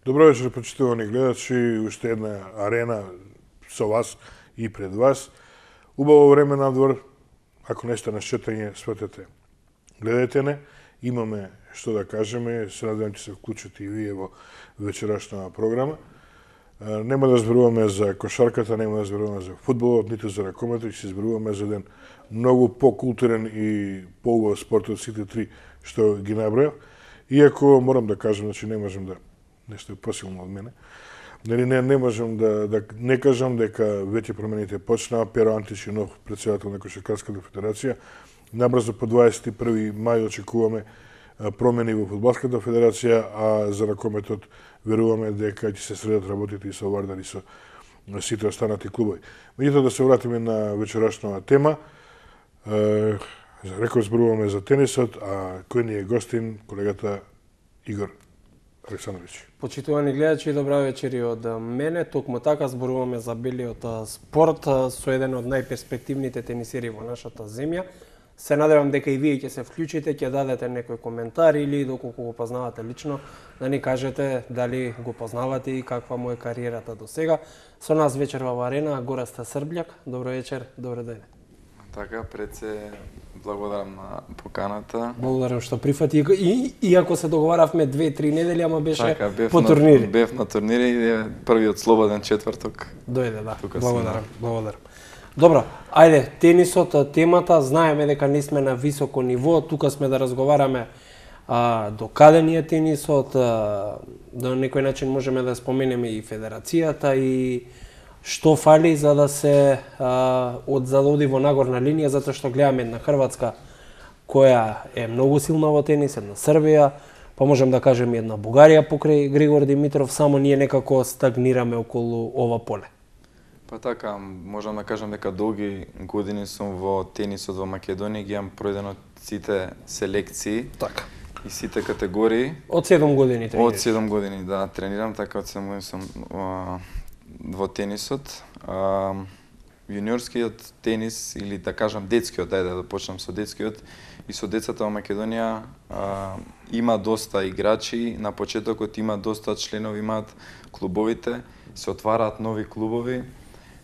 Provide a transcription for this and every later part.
Добро вечер, почитувани гледачи, уште една арена со вас и пред вас. Убаво време надвор, ако нешто на шетање, сватете. Гледајте не, имаме што да кажеме, се надевам ќе се вклучите и вие во вечерашната програма. Нема да зборуваме за кошарката, нема да зборуваме за фудбалот, ниту за ракометот, ќе се зборуваме за еден многу покултурен и поубав спорт од сите три што ги набројав. Иако морам да кажам, значи не можам да нешто е посилно од мене. Не можам да не кажам дека веќе промените почнаа. Перо Антич, нов претседател на Кошаркарската федерација. Набрзо по 21. мај очекуваме промени во Фудбалската федерација, а за ракометот веруваме дека ќе се средат работите и со Вардар и со сите останати клубови. Меѓутоа да се вратиме на вечерашната тема. Реков зборуваме за тенисот, а кој ни е гостин, колегата Игор Александрович. Почитувани гледачи, добра вечери од мене. Токму така зборуваме за белиот спорт со еден од најперспективните тенисери во нашата земја. Се надевам дека и вие ќе се вклучите, ќе дадете некој коментар или доколку го познавате лично, да ни кажете дали го познавате и каква му е кариерата до сега. Со нас вечер во арена Гораста Србљак. Добро вечер, добро ден. Така, пред се благодарам на поканата. Благодарам што прифати. Иако се договаравме 2-3 недели, ама беше по турнири. Бев на турнири и првиот слободен четврток. Дојде, да. Благодарам. Добро, ајде, тенисот, темата, знаеме дека не сме на високо ниво, тука сме да разговараме до каде ни е тенисот, до некој начин можеме да споменеме и федерацијата и што фали за да се оди во нагорна линија, затоа што гледаме една Хрватска која е многу силна во тенис, една Србија, па можем да кажеме една Бугарија покрај Григор Димитров, само ние некако стагнираме околу ова поле. Па така, можам да кажам дека долги години сум во тенисот во Македонија, ги имам пројдено сите селекции. Така. И сите категории. Од 7 години тренираш? Од 7 години, да, тренирам, така од 7 години сум во тенисот. Јуниорскиот тенис, или да кажам детскиот, да почнам со детскиот, и со децата во Македонија има доста играчи, на почетокот има доста членови, имаат клубовите, се отвараат нови клубови,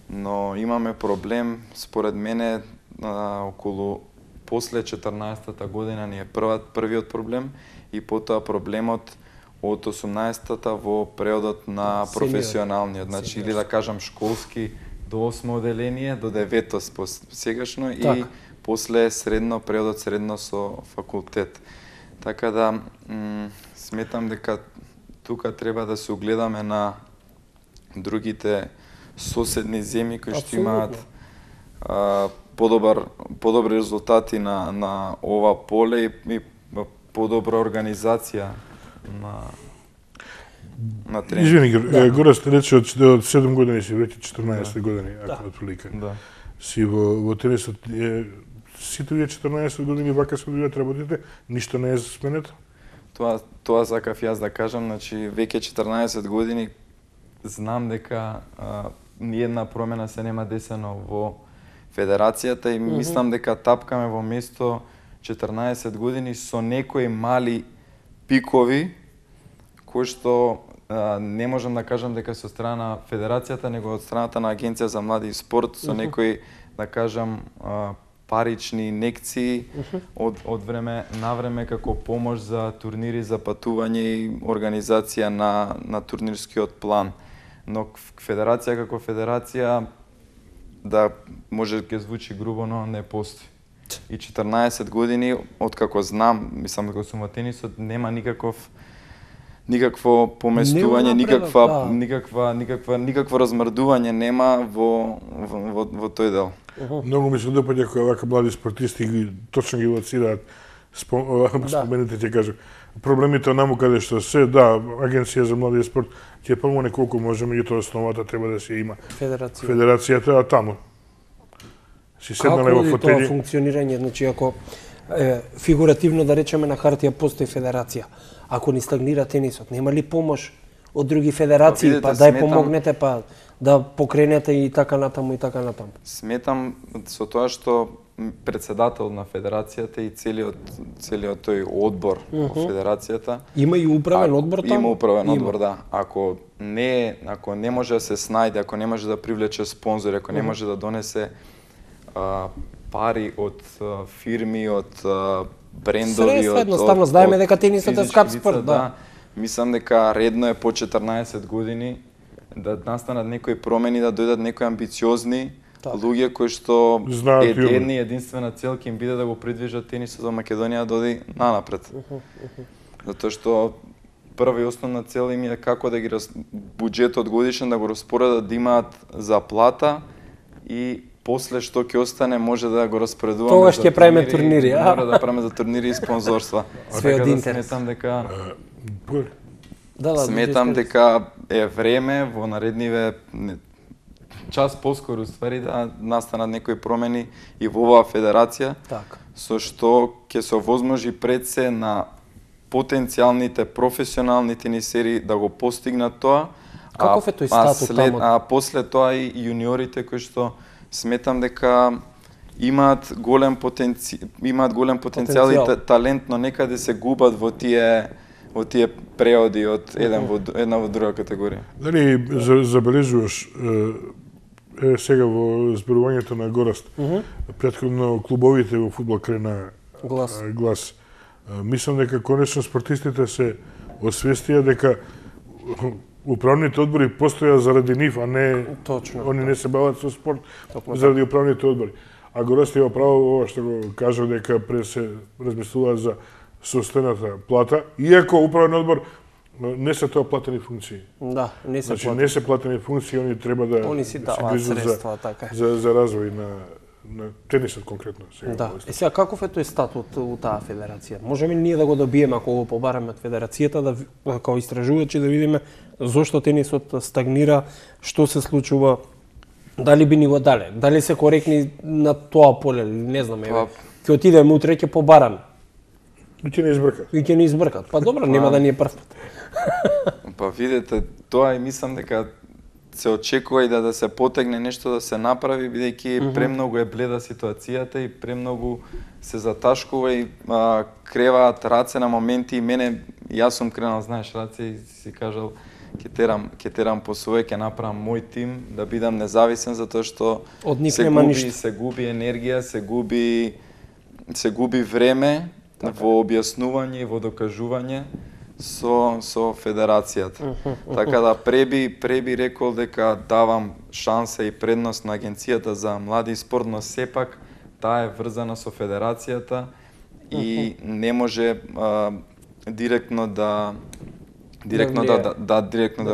но имаме проблем, според мене, околу после 14-та година ни е првиот проблем и потоа проблемот од 18-та во преодот на професионалниот, значи или да кажам школски до 8 оделение, до 9-то сегашно и после преодот средно со факултет. Така да сметам дека тука треба да се огледаме на другите соседни земји кои што имаат подобри резултати на ова поле и подобра организација на тренинг. Извини, Гораст рече од 7 години си, веќе 14 години, ако отприлика. Да. Си во тенисот, сите вие 14 години вака се одвијат работите, ништо не е сменето? Тоа сакав јас да кажам, значи веќе 14 години знам дека ниедна промена се нема десено во федерацијата и мислам дека тапкаме во место 14 години со некои мали пикови кои што не можам да кажам дека се од страна на федерацијата, него од страната на Агенција за млади и спорт со некои, да кажам, парични инекции од време на време како помош за турнири, за патување и организација на турнирскиот план. Но федерација како федерација, да може ќе звучи грубо, но не постои. И 14 години, откако знам, мислам дека сум во тенисот, нема никакво поместување, никакво размрдување нема во тој дел. Многу ми се допаѓа кога вака млади спортисти точно ги лоцираат спомените, ќе кажам. Проблемите наму каде што се, да, Агенција за млади и спорт ќе помогне колку може, меѓутоа основата треба да се има федерацијата, а таму си седнале во фотели. Како тоа функционирање, значи ако фигуративно да речеме на хартија постои федерација, ако ни стагнира тенисот, нема ли помош од други федерации, па дај помогнете, па да покренете и така натаму и така натаму? Сметам со тоа што председател на федерацијата и целиот тој одбор во федерацијата. Има и управен одбор таму? Има управен одбор, да. Ако не може да се снајде, ако не може да привлече спонзори, ако не може да донесе пари од фирми, од брендови, од едноставно знаеме дека тенисот е скап спорт, да. Мислам дека редно е по 14 години да настанат некои промени, да дојдат некои амбициозни луѓе кои што единствена цел ќе им биде да го придвижат тенисот во Македонија да оди нанапред. Затоа што прва и основна цел им е како да ги буџетот годишен да го распоредат, да имаат заплата и после што ќе остане може да го распоредуваме. Тогаш ќе правиме турнири, Мора да правиме за турнири и спонзорства. Све од интерес. Сметам дека сметам дека е време во наредниве час поскоро ствари да настанат некои промени и во оваа федерација, со што ќе се овозможи пред се на потенцијалните професионални тенисери да го постигнат тоа. Каков е тој статут таму? А после тоа и јуниорите кои што сметам дека имаат голем потенцијал и талент, но некаде се губат во тие преоди од една во друга категорија. Дали забележуваш сега во зборувањето на Гораст, претходно клубовите во фудбал крена глас. Мислам дека конечно спортистите се освестија дека управните одбори постоја заради нив, а не они не се бават со спорт заради управните одбори. А Гораст има право ова што го кажа дека пред се размислува за собствената плата, иако управен одбор не се тоа платени функции. Да, не се платени. Значи не се платени функции, они треба да се средства, така е. За развој на тенисот конкретно. Да. И сега каков е тој статут у таа федерација? Можеме ние да го добиеме ако го побараме од федерацијата, да како истражувачи да видиме зошто тенисот стагнира, што се случува, дали би ни го дале, дали се коректни на тоа поле, не знам, еве. Ќе отидеме утре ќе побараме. И ќе не избркат. Па добро, нема да ни е прв пат. Па видете, тоа и мислам дека се очекува и да се потегне нешто да се направи, бидејќи премногу е бледа ситуацијата и премногу се заташкува и креваат раце на моменти и мене, јас сум кренал, знаеш, раце и си кажал ќе терам по своје, ќе направам мој тим, да бидам независен, затоа што се губи енергија, се губи време во објаснување и во докажување со федерацијата. Така да преби рекол дека давам шанса и предност на Агенцијата за млади и спорт, но сепак таа е врзана со федерацијата и не може директно да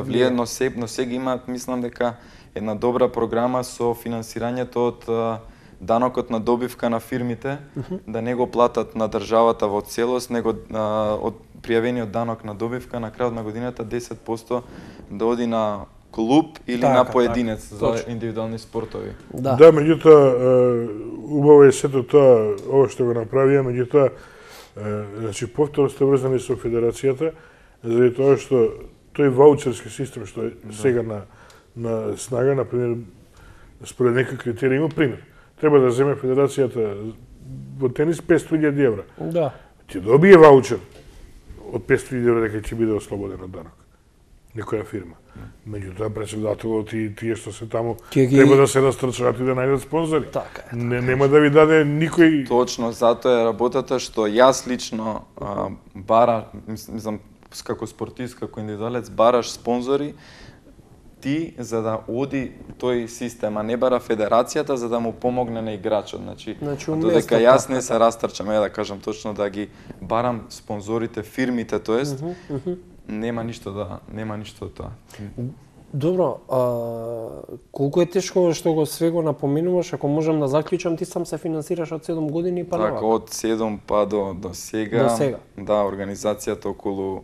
влие, но сега имаат, мислам дека една добра програма со финансирањето од данокот на добивка на фирмите, да не го платат на државата во целост, него од пријавениот данок на добивка на крајот на годината 10% да оди на клуб или на поединец за индивидуални спортови. Да, меѓутоа убаво е сето тоа, ова што го направија, меѓутоа значи повторно сте врзани со федерацијата, заради тоа што тој ваучерски систем што е сега на снага, например, според некои критерии, има пример. Треба да земе федерацијата во тенис 500.000 евра. Да. Ќе добие ваучер од 500.000 евра дека ќе биде ослободен од данок. Некоја фирма. Меѓутоа претседателот и тие што се таму треба да се растрчаат и да најдат спонзори. Така е. Нема да ви даде никој. Точно, затоа е работата што јас лично мислам како спортист, како индивидуалец бараш спонзори ти за да оди тој систем, а не бара федерацијата за да му помогне на играчот. Значи додека јас не се растрчам, да кажам точно, да ги барам спонзорите, фирмите, тоест нема ништо од тоа. Добро, колку е тешко што го све го напоменуваш, ако можам да заклучам, ти сам се финансираш од 7 години па навака? Така, од 7 па до сега. Да, организацијата околу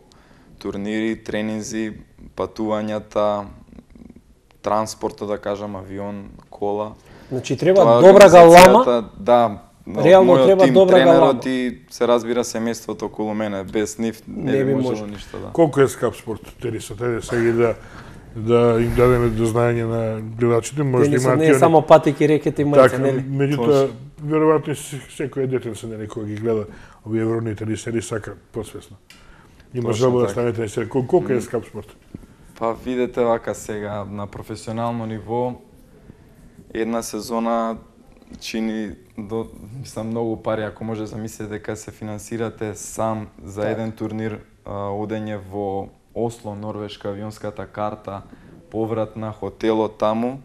турнири, тренинзи, патувањата, транспортот, да кажам, авион, кола. Значи треба добра галама. Да, реално треба добра галама. Тренерот и се разбира семејството околу мене, без нив не би можело ништо, да. Колку е скап спорт тенисот? Ајде сега да им дадеме до знаење на гледачите, може да имаат не е само патеки, рекети и мајце, нели? Меѓутоа веројатно секој дете се некој ги гледа овие евровните ни се сака посвесно. Има желба да станете на се колку е скап спорт. Па видете вака сега на професионално ниво една сезона чини мислам многу пари, ако може замислите дека се финансирате сам за еден турнир, одење во Осло, Норвешка, авионската карта, поврат на хотелот таму,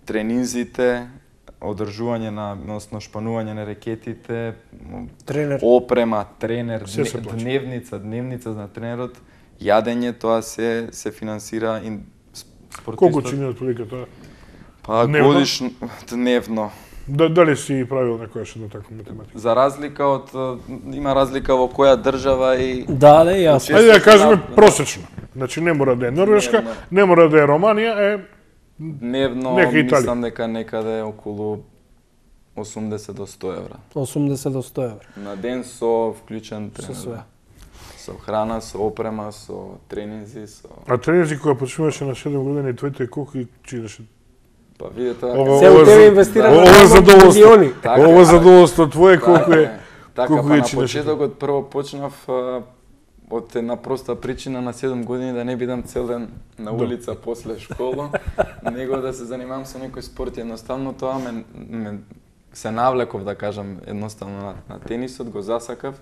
тренинзите, одржување односно шпанување на рекетите, Тренер. опрема, тренер, дневница на тренерот, јадење, тоа се финансира и спортистот. Колку чини отприлика тоа? Па годишно, дневно. Дали си правил некојаш на таква математика? За разлика од има разлика во која држава и Да, јасно. Ајде да кажеме просечно. Значи не мора да е Норвешка, не мора да е Романија, дневно нека Италија. мислам дека некаде околу 80 до 100 евра. 80 до 100 евра. На ден со вклучен Со тренер. све. Со храна, со опрема, со тренинзи, со... А тренинзи кога почнуваше на 7 години, твоите колку чинеше? Па видете, Се у тебе инвестира Ова е задоволство. Така, Ова е задоволство твое колку е. Така, колку па е на чинеше? почетокот прво почнав од една проста причина на 7 години да не бидам цел ден на улица после школа, него да се занимавам со некој спорт. Едноставно тоа ме се навлеков, да кажам, едноставно на тенисот, го засакав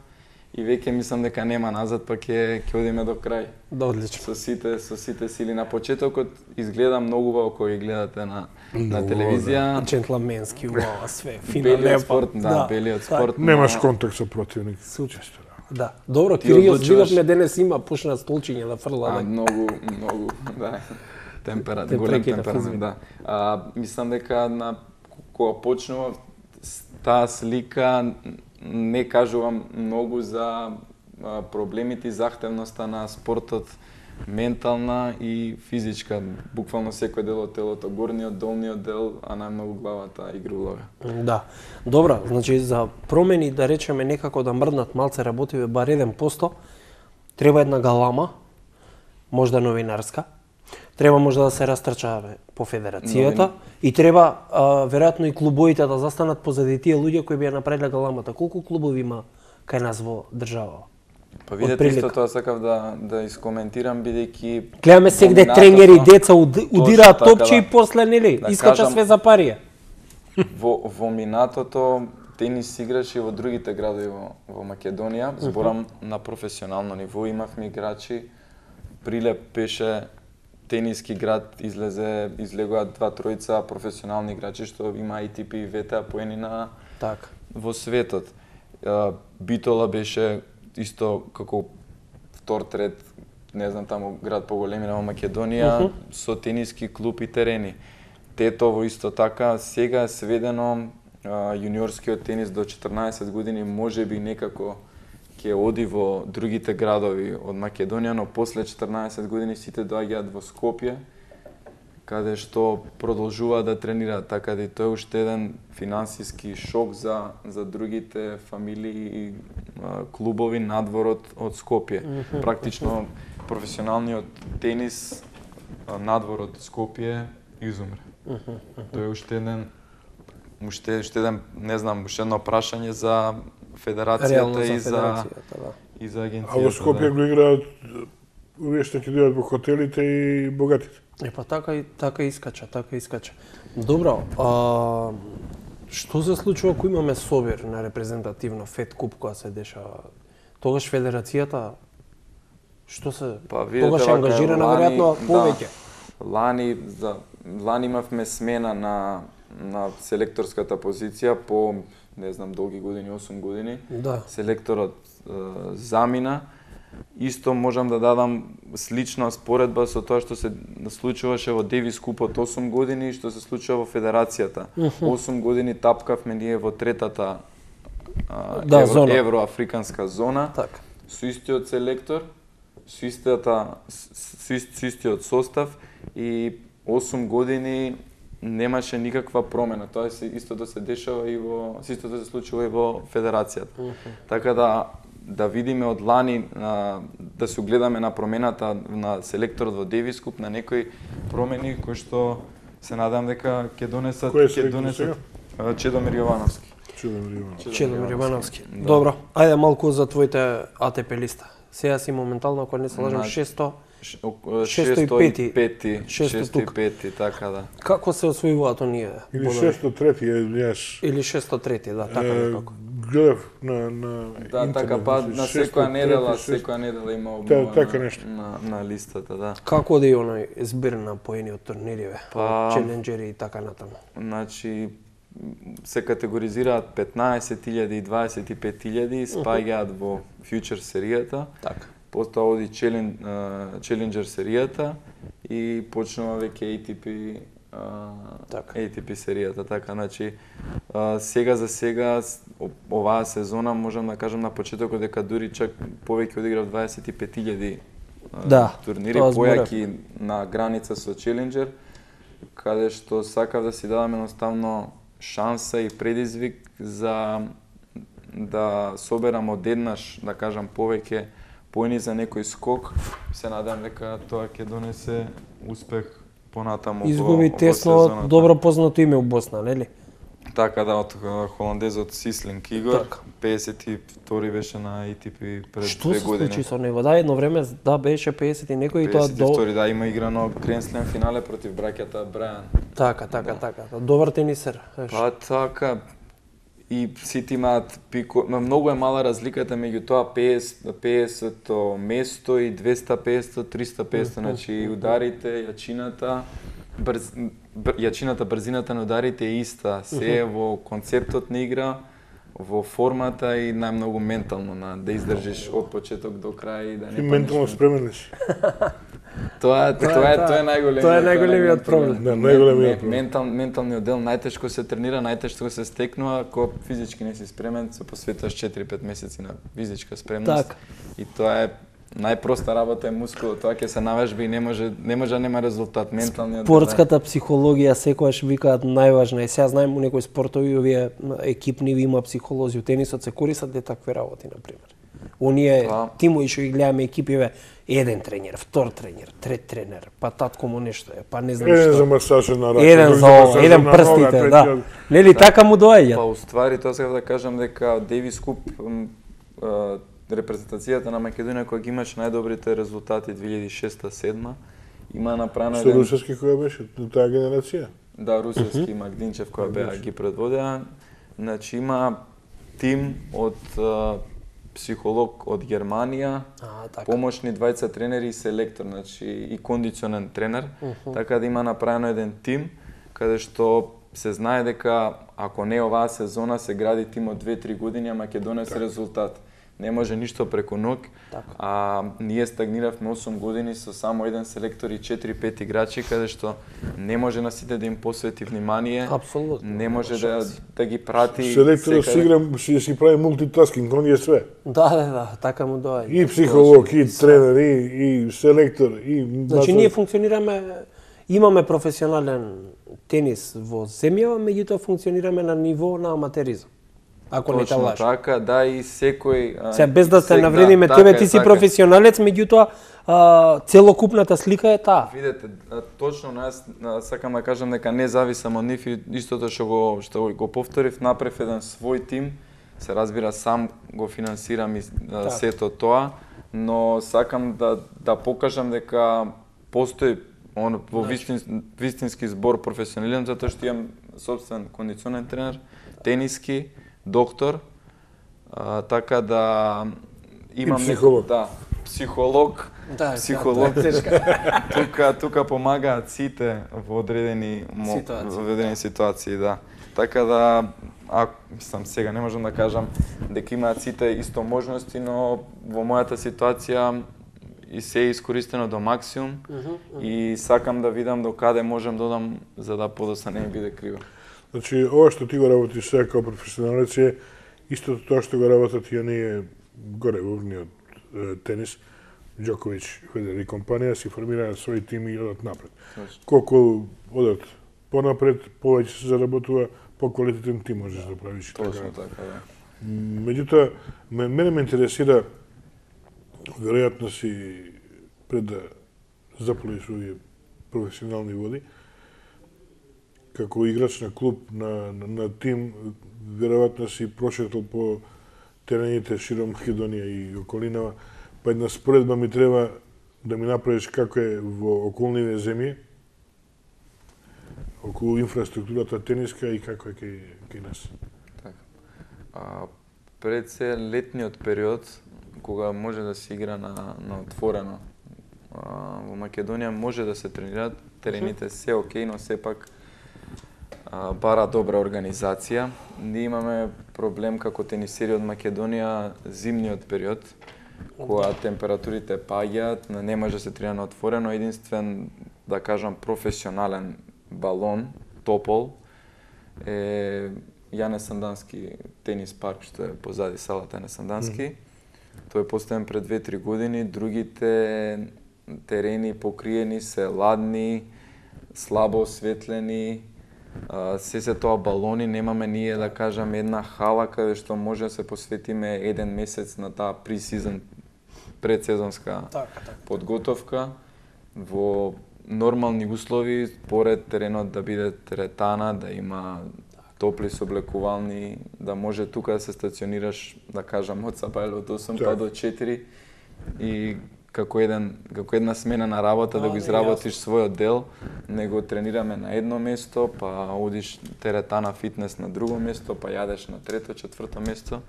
и веќе мислам дека нема назад, па ќе одиме до крај. Да, одлично. Со сите сили. На почетокот изгледа многу убаво кога ги гледате на телевизија. Джентлменски, убава све, фина, Белиот лепо. спорт, да, белиот спорт. Немаш контакт со противник. Супер. Често, да. Да. Добро, Ти Кирил, одлучуваш- видовме денес има пушна столчиња да фрла. да. Многу, да. Голем прекина темперамент, физми. да. Мислам дека кога почнува таа слика не кажувам многу за проблемите и захтевноста на спортот, ментална и физичка. Буквално секој дел од телото, горниот, долниот дел, а најмногу главата игра улога. Да. Добро, значи за промени, да речеме некако да мрднат малце работиве бар 1%, треба една галама, можда новинарска, треба можда да се растрчаваме по федерацијата и треба веројатно и клубовите да застанат позади тие луѓе кои би ја направиле галамата. Колку клубови има кај нас во држава? Па видете, Отприлика. исто тоа сакав да искоментирам, бидејќи Гледаме сегде во тренери, минатото- деца удираат Точно така, топче да. и после нели Да искача кажам- све за парија. Во минатото тенис играше и во другите градови во Македонија, зборам на професионално ниво, имавме играчи, Прилеп беше тениски град, излегоа 2-3 професионални играчи што има ATP и WTA поени на Така. во светот. Битола беше исто како втор, трет, не знам, таму град поголемина во Македонија, со тениски клуб и терени. Тетово исто така, сега е сведено јуниорскиот тенис до 14 години можеби некако ќе оди во другите градови од Македонија, но после 14 години сите доаѓаат во Скопје, каде што продолжува да тренира, така да и тоа е уште еден финансиски шок за другите фамилии и клубови надвор од Скопје. Практично професионалниот тенис надвор од Скопје изумре. Тоа е уште еден не знам, уште едно прашање за федерацијата Реално и за федерацијата, да. и за агенцијата. А во Скопје го играат овие што ќе дојдат во хотелите и богатите. Па така искача. Добро, што се случува ако имаме собир на репрезентативно Фед Куп која се дешава? Тогаш федерацијата што се видете, тогаш е вака, ангажирана лани, веројатно повеќе. Лани имавме смена на селекторската позиција по не знам долги години, 8 години. Да. Селекторот замина. Исто можам да дадам слична споредба со тоа што се случуваше во Девис Купот 8 години и што се случува во федерацијата. 8 години тапкавме ние во третата зона. евроафриканска зона. Така. Со истиот селектор, со истиот состав и 8 години немаше никаква промена. Тоа истото се дешава и истото се случува и во федерацијата. Така да видиме од лани, да се огледаме на промената на селекторот во Девис Куп, на некои промени кои што се надам дека ќе донесат Кој е селектор сега? Чедомир Јовановски. Челимир Ивановски. Добро, ајде малку за твоите АТП листа. Сега си моментално, ако не се лажам, 605, така да. Како се освојуваат оние? Или 603, јас. Или 603, да, така некако. Гледав на Да, така па на секоја недела има обнова на листата, да. Како да и оној збир на поениот турнири, челенџери и така натаму? Значи, се категоризираат 15.000 и 25.000, спаѓаат во фьючер серијата. Така. Потоа оди челенџер серијата и почнува веќе ATP серијата, така, значи сега за сега оваа сезона можам да кажам на почетокот дека дури чак повеќе одиграв 25.000 турнири, појаки на граница со челенџер, каде што сакав да си дадам едноставно шанса и предизвик за да соберам одеднаш, да кажам, повеќе поени за некој скок. Се надам дека тоа ќе донесе успех понатаму. Изгуби тесно добро познато име у Босна, нели? Така да, од холандезот Сислинг Игор, 52-ри беше на ATP пред 2 години. Што се случи со него? Да, едно време беше 50 и некој и тоа 52-ри, да, има играно Гранд Слем финале против браќата Брајан. Така. Добар тенисер. Па така, и сите имаат пико, многу е мала разликата меѓу тоа 50-то место и 250-то, 350-то, значи ударите, јачината, брзината на ударите е иста, се е во концептот на игра, во формата и најмногу ментално, да издржиш од почеток до крај и да не паднеш. Ментално спремен ли си? Тоа е најголемиот проблем. Да, најголемиот проблем. Менталниот дел најтешко се тренира, најтешко се стекнува, ако физички не си спремен, се посветуваш 4-5 месеци на физичка спремност. Так. И тоа е најпроста работа е мускулот, тоа ќе се навежба и не може да нема резултат, менталниот. Спортската психологија секогаш викаат најважна и сега знаем у некои спортови овие екипни има психолози, у тенисот се користат такви работи на пример. Оние тимови што ги гледаме екипиве, еден тренер, втор тренер, трет тренер, па татко му нешто е, па не знам што. Еден за масажа на рака, еден за ова, еден прстите, да. Нели така му доаѓа? Па уствари тоа сега да кажам дека Девис Куп репрезентацијата на Македонија која ги имаше најдобрите резултати 2006-2007 има направено еден... Со русовски која беше таа генерација? Да, русовски Магдинчев која беа ги предводеа. Значи има тим од психолог од Германија, помошни двајца тренери и селектор, значи и кондиционен тренер, така да има направено еден тим каде што се знае дека ако не оваа сезона се гради тим од 2-3 години, ама ќе донесе резултат. Не може ништо преку ног, ние стагниравме 8 години со само еден селектор и 4-5 играчи, каде што не може на сите да им посвети внимание, не може да ги прати. Селекторот си прави мултитаскинг, он е све. Да, така му доаѓа. И психолог, и тренер, и селектор, и... Значи ние функционираме, имаме професионален тенис во земјава, меѓутоа функционираме на ниво на аматеризам. Ако не те лажам. Така, да, и секој... Сега, без да се навредиме тебе, ти си професионалец, меѓутоа целокупната слика е таа. Видете, точно сакам да кажам дека не зависам од нив и истото што го повторив, направив еден свој тим, се разбира сам го финансирам и сето тоа, но сакам да покажам дека постои во вистински збор професионализам, затоа што имам собствен кондиционен тренер, тениски, доктор, така да имам психолог. Психолог. Тука помагаат сите во одредени ситуации, да. Така да мислам сега не можам да кажам дека имаат сите исто можности, но во мојата ситуација и се е искористено до максимум и сакам да видам до каде можам да одам за да подоцна не ми биде криво. Значи, ова што ти го работиш сега како професионалец е истото тоа што го работат и оние горе во врниот тенис, Џоковиќ, Федерер и компанија си формираат своји тими и одат напред. Колку одат понапред, повеќе се заработува, поквалитетен тим можеш да правиш. Точно така, да. Меѓутоа, мене ме интересира, веројатно си пред да заполиш овие професионални води, како играч на клуб, на тим, веројатно си прошетал по терените широм Македонија и околинава, па една споредба ми треба да ми направиш како е во околниве земји, околу инфраструктурата тениска и како е кај нас. Така. Пред се летниот период, кога може да се игра на отворено, во Македонија може да се тренираат, терените се окей, но сепак бара добра организација. Ние имаме проблем како тенисери од Македонија зимниот период, кога температурите паѓаат, не може да се тренира на отворено, единствен, да кажам, професионален балон, топол, е Јане Сандански тенис парк, што е позади салата Јане Сандански. Тој е поставен пред 2-3 години, другите терени покриени се ладни, слабо осветлени, се тоа балони, немаме ние, да кажам, една хала каде што може да се посветиме еден месец на таа пресезон, предсезонска подготовка. Во нормални услови, поред теренот да биде теретана, да има топли сооблекувални, да може тука да се стационираш, да кажам, од сабајле од 8 па до 4 и како една смена на работа да го изработиш својот дел, не го тренираме на едно место, па одиш теретана фитнес на друго место, па јадеш на трето, четврто место.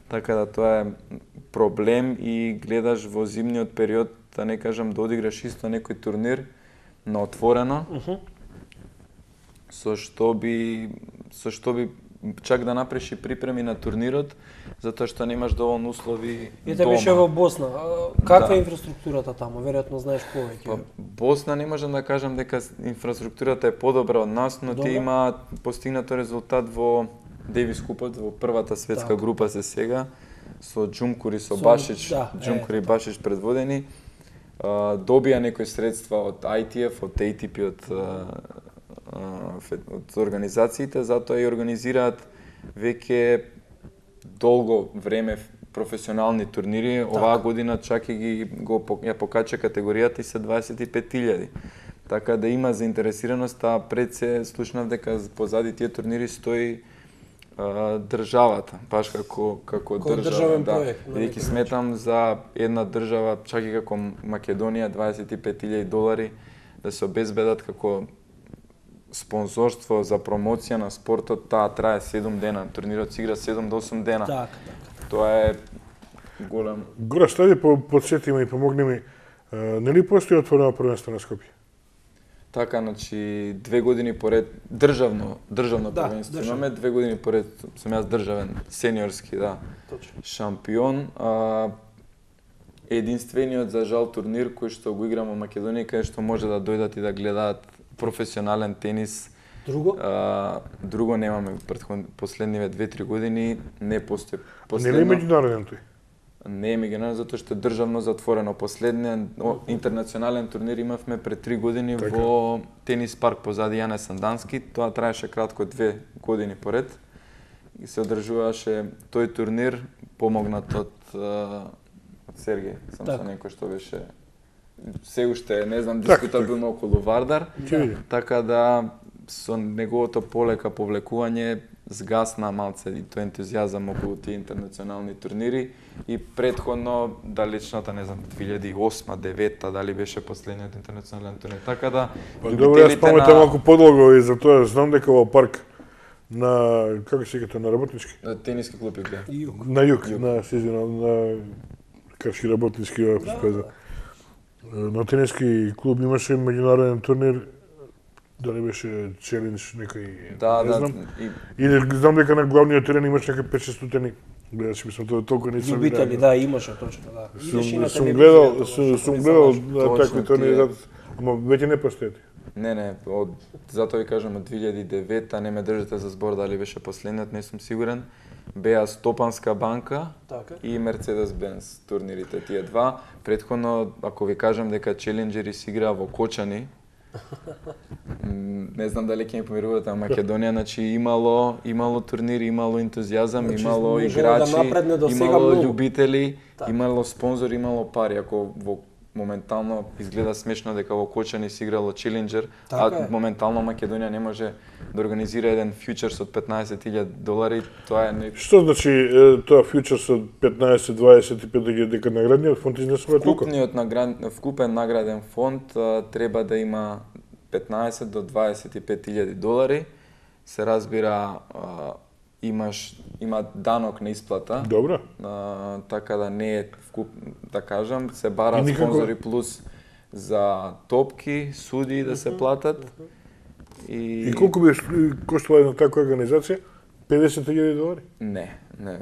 Така да тоа е проблем и гледаш во зимниот период, да не кажам, да одиграш исто некој турнир на отворено, со што би чак да направиш и припреми на турнирот, затоа што немаш доволно услови дома. Ете беше во Босна. Каква е инфраструктурата таму? Веројатно знаеш повеќе. Босна не можам да кажам дека инфраструктурата е подобра од нас, но тие имаат постигнато резултат во Девис купот, во првата светска група се сега, со Џумкур и со Башич, Џумкур и Башич предводени. Добија некои средства од ITF, од ATP, од организациите, затоа и организираат веќе долго време професионални турнири. Оваа година чак и ја покача категоријата и се 25.000. Така да има заинтересираност, а пред се слушнав дека позади тие турнири стои државата, баш како држава, бидејќи сметам за една држава, чак и како Македонија, $25.000 да се обезбедат како спонзорство за промоција на спортот, таа трае 7 дена, турнирот се игра 7 до 8 дена. Така. Тоа е голем. Гора, стади подсети ме и помогни ми, нели постои отворено првенство на Скопје? Така, значи 2 години поред државно првенство имаме, 2 години поред сум јас државен сениорски, шампион. Единствениот за жал турнир кој што го играм во Македонија, каде што може да дојдат и да гледаат професионален тенис. Друго немаме последниве 2-3 години, не постои. Не е меѓународен тој? Не е меѓународен, затоа што е државно затворено. Последниот интернационален турнир имавме пред 3 години во тенис парк позади Јане Сандански. Тоа траеше кратко 2 години поред. И се одржуваше тој турнир помогнат од Сергеј, сам со некој што беше се уште, не знам, дискутабилно околу Вардар. Така да со неговото полека повлекување згасна малце и тој ентузијазам околу тие интернационални турнири и претходно далечната, не знам, 2008-2009 дали беше последниот интернационален турнир. Така да добро, јас паметам малку подолго и за тоа знам дека во парк на како се викате, на работнички? Тениски клуб Јук. На Јук, на Каршки работнички офис. На тениски клуб имаше меѓународен турнир, дали беше челендж некој, не знам. И знам дека на главниот терен имаш некои 5-6 стотени. Гледаш, мислам, тоа толку не сум видел. Љубители, имаше точно, Сум гледал такви турнири, ама веќе не постојат. Не, затоа ви кажам, од 2009-та не ме држите за збор дали беше последниот, не сум сигурен. Беа Стопанска банка и Мерцедес-Бенц турнирите, тие два. Претходно, ако ви кажам дека челенџери се играа во Кочани, не знам дали ќе ми помирувате, а Македонија, значи имало турнири, имало ентузијазам, имало играчи, имало љубители, имало спонзори, имало пари. Ако во моментално изгледа смешно дека во Кочани се играло Челенџер, Така е. моментално Македонија не може да организира еден фьючерс од $15,000, тоа е не... Што значи тоа фьючерс од 15-25 дека наградниот фонд изнесува толку? Вкупен награден фонд треба да има $15 до $25,000. Се разбира, има данок на исплата. Добро. Така да не е вкуп, да кажам, се бараат никако... спонзори плюс за топки, суди да се платат. И колку би коштала една таква организација? $50,000? Не,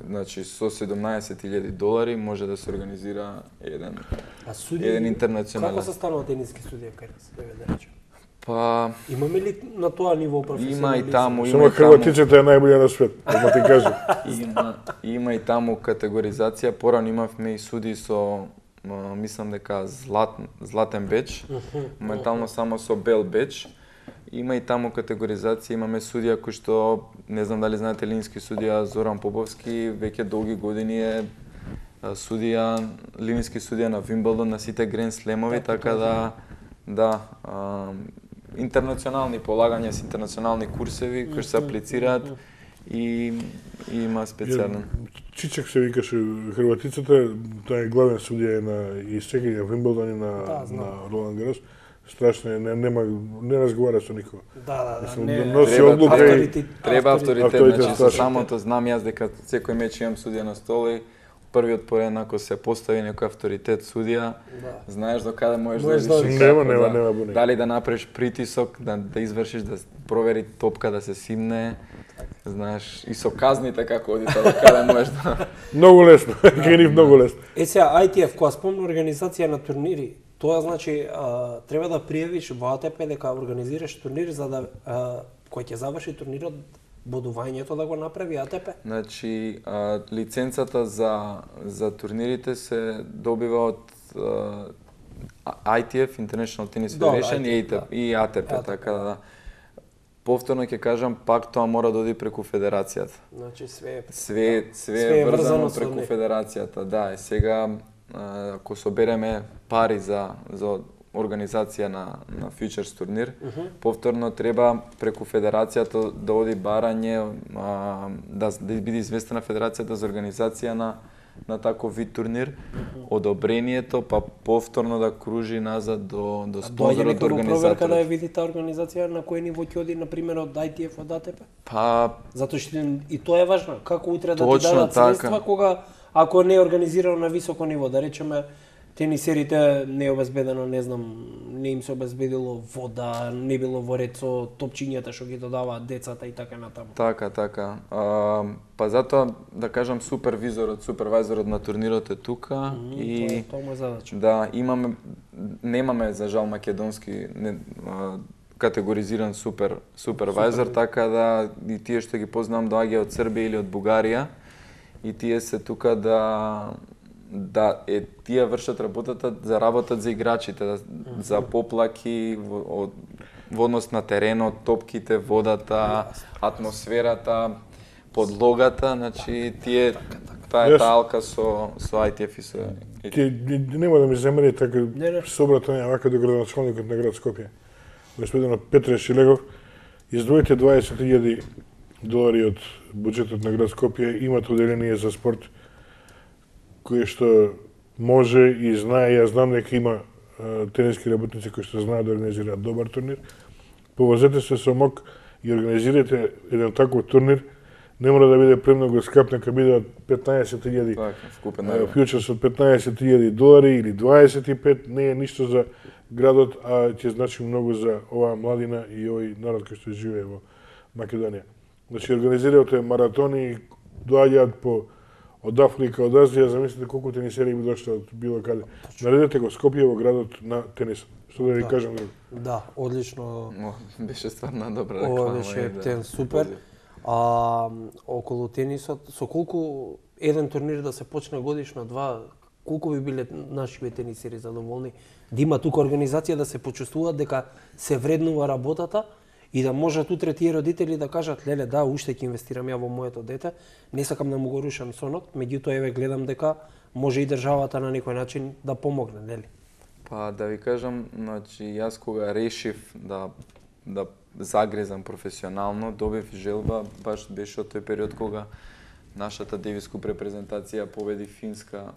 значи со $17,000 може да се организира еден интернационален. Како се станува тениски судија кај нас, да речем? Па имаме ли на тоа ниво професионализм? Има и таму, Само Хрватицата е најбоља на свет, да ти кажам. Има и таму категоризација, порано имавме и суди со мислам дека златен беч, моментално само со бел беч. Има и таму категоризација, имаме судија кој што, не знам дали знаете лински судија Зоран Поповски, веќе долги години е судија, лински судија на Вимблдон, на сите Гранд Слемови, така да, интернационални полагања с интернационални курсеви кои се аплицираат и има специјален. Чичак се викаше Хрватицата, тоа е главен судија и сега и на Вимблдон и на Ролан Гарос. Страшно е, не разговара со никого. Треба авторитет, значи со самото знам јас дека секој меч имам судија на стола и првиот поред ако се постави некој авторитет судија, знаеш до каде можеш да идиш. Нема буни. Дали да направиш притисок, да извршиш, да провери топка да се симне, знаеш, и со казните како оди до каде можеш да... Многу лесно, кај многу лесно. Сега, ITF, кога спомна организација на турнири, тоа значи треба да пријавиш во АТП дека организираш турнир за да кој ќе заврши турнирот бодувањето да го направи АТП? Значи, лиценцата за турнирите се добива од ITF, International Tennis Federation и АТП, така да. Повторно ќе кажам, пак тоа мора да оди преку федерацијата. Значи све е врзано преку федерацијата, да. Сега ако собереме пари за организација на фьючерс турнир, повторно треба преку федерацијата да оди барање, да биде известена федерацијата за организација на таков вид турнир, одобрението, па повторно да кружи назад до спонзорот, до организаторот. Проверка да ја види таа организација на кој ниво ќе оди, например, од ITF, од АТП? Па... Затоа што и тоа е важно. Како утре да ти дадат средства, кога, ако не е организирано на високо ниво, да речеме, тенисерите не е обезбедено, не знам, не им се обезбедило вода, не било во ред со топчињата што ги додаваат децата и така натаму. Така. Па затоа, да кажам, супервизорот на турнирот е тука и тоа му е задача. Да, немаме за жал македонски категоризиран супервизор, така да и тие што ги познавам доаѓаат од Србија или од Бугарија и тие се тука тие вршат работата, заработат за играчите, за поплаки во однос на теренот, топките, водата, атмосферата, подлогата, значи тие таа алка со ITF и со... Нема да ми замери така собрата вака до градоначалникот на град Скопје. Господин Петре Шилегов, издвоите $20,000 од буџетот на град Скопје, имате оделение за спорт кој што може и знае, јас знам дека има тениски работници кои што знаат да организираат добар турнир. Повозете се со МОК и организирате еден таков турнир. Не мора да биде премногу скап, нека биде од $15,000 фьючерс од $15,000 или 25, не е ништо за градот, а ќе значи многу за оваа младина и овој народ кој што живее во Македонија. Значи организирате маратони, доаѓаат од Африка, од Азија, замислите колку тенисери би дошли од било каде. Наредете го Скопје во градот на тенисот. Што да ви кажам друго? Да, одлично. Беше стварно добра реклама. Ова беше супер. Околу тенисот, со колку еден турнир да се почне годишно, два, колку би биле нашите тенисери задоволни да има тука организација, да се почувствуваат дека се вреднува работата и да можат утре тие родители да кажат, леле, да, уште ќе инвестирам ја во моето дете, не сакам да му го рушам сонот, меѓутоа еве гледам дека може и државата на некој начин да помогне, нели? Па да ви кажам, значи јас кога решив да загрезам професионално, добив желба, баш беше од тој период кога нашата Девис Куп репрезентација победи Финска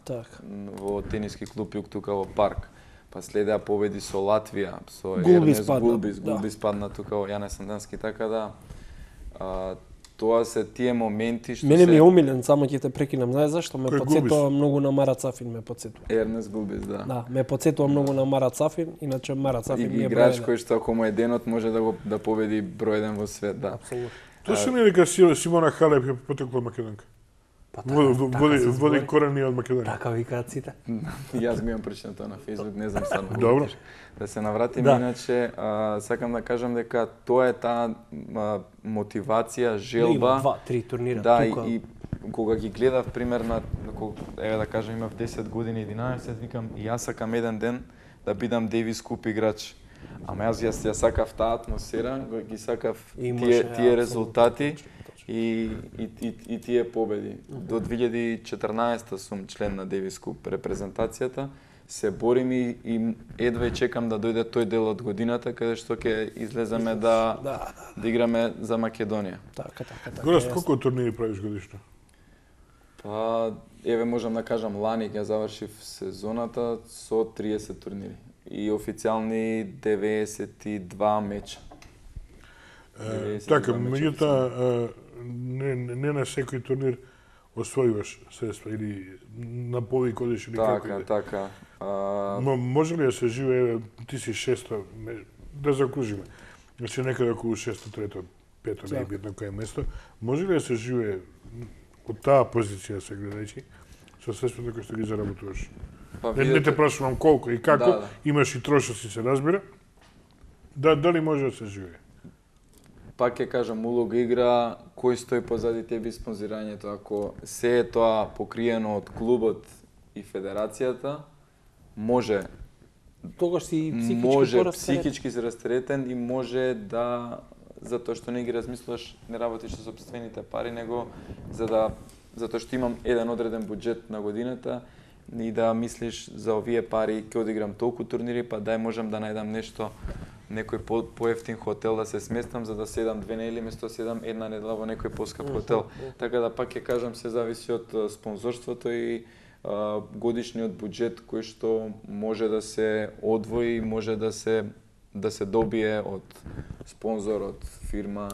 во тениски клуб Јук тука во парк. Па следеа победи со Латвија, со Ернест Гулбис падна тука во Јане Сандански, така да тоа се тие моменти што Мене ми е омилен, само ќе те прекинам. Знаеш зашто? Ме потсетува многу на Мара Цафин, ме потсетува. Ернест Гулбис, да. Да, ме потсетува многу на Мара Цафин, иначе Мара Цафин ми е играч кој што ако му е денот може да победи број 1 во свет, да. Апсолутно. Тоа се не дека Симона Халеп е потекла Македонка. Води корени од Македонија. Така викаат сите. Јас го имам прочитано тоа на Facebook, не знам стварно. Добро. Да се навратиме, иначе сакам да кажам дека тоа е таа мотивација, желба. 2-3 турнира тука. И кога ги гледав пример на еве да кажам имав 10 години, 11, викам и јас сакам еден ден да бидам Девис Куп играч. Ама јас сакав таа атмосфера, ги сакав тие резултати и тие победи. До 2014 сум член на Девис Куп репрезентацијата. Се борим и едва чекам да дојде тој дел од годината каде што ќе излеземе да играме за Македонија. Така. Горас, колку турнири правиш годишно? Па, еве можам да кажам, лани ја завршив сезоната со 30 турнири и официјални 92 меча. Така, меѓутоа не на секој турнир освојуваш средства или на повик одиш или како иде. Така. Може ли да се живее, ти си 600, да закружиме, значи некаде околу 600, 500, не е битно кое место, може ли да се живее од таа позиција се гледајќи, со средствата кои што ги заработуваш? Не те прашувам колку и како, имаш и трошоци, се разбира, дали може да се живее? Пак ќе кажам, улога игра кој стои позади тебе спонзирањето. Ако се е тоа покриено од клубот и федерацијата, може тогаш си психички се растеретен и може да затоа што не ги размислуваш, не работиш со сопствените пари, него затоа што имам еден одреден буџет на годината и да мислиш за овие пари ќе одиграм толку турнири, па дај можам да најдам нешто, некој поевтин хотел да се сместам за да седам 2 недели место седам една недела во некој поскап хотел. Така да пак ќе кажам се зависи од спонзорството и годишниот буџет кој што може да се одвои, може да се добие од спонзор, од фирма.